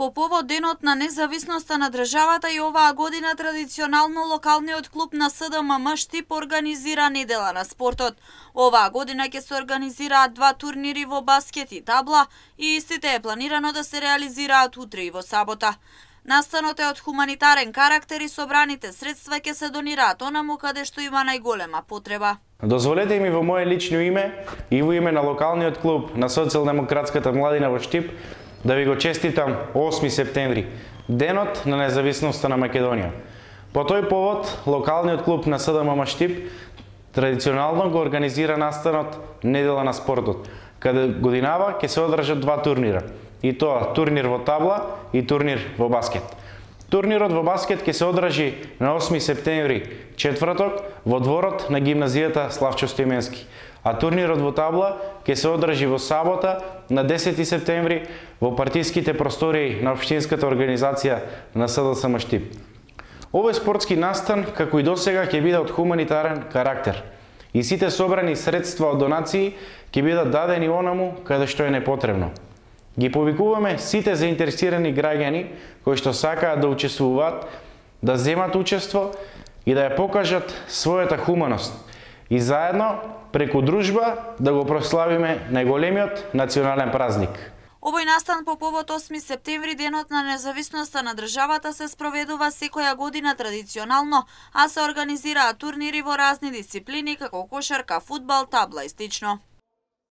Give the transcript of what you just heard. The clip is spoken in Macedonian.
По повод Денот на независноста на државата и оваа година традиционално локалниот клуб на СДММ Штип организира недела на спортот. Оваа година ќе се организираат 2 турнири во баскет и табла и истите е планирано да се реализираат утре и во сабота. Настанот е од хуманитарен карактер и собраните средства ќе се донираат онаму каде што има најголема потреба. Дозволете ми во моје лично име и во име на локалниот клуб на Социјалдемократската младина во Штип да ви го честитам 8 септември, денот на независноста на Македонија. По тој повод, локалниот клуб на СДММ Штип традиционално го организира настанот недела на спортот, каде годинава ќе се одржат 2 турнира, и тоа турнир во табла и турнир во баскет. Турнирот во баскет ќе се одржи на 8 септември, четврток, во дворот на гимназијата Славчо Стоименски, а турнирот во табла ќе се одржи во сабота на 10 септември во партиските простории на општинската организација на СДСМ Штип. Овој спортски настан, како и досега, ќе биде од хуманитарен карактер и сите собрани средства од донации ќе бидат дадени онаму каде што е непотребно. Ги повикуваме сите заинтересирани граѓани кои што сакаат да учествуваат, да земат учество и да ја покажат својата хуманост и заедно преку дружба да го прославиме најголемиот национален празник. Овој настан по повод 8 септември, денот на независноста на државата, се спроведува секоја година традиционално, а се организираат турнири во разни дисциплини како кошарка, фудбал, табла и слично.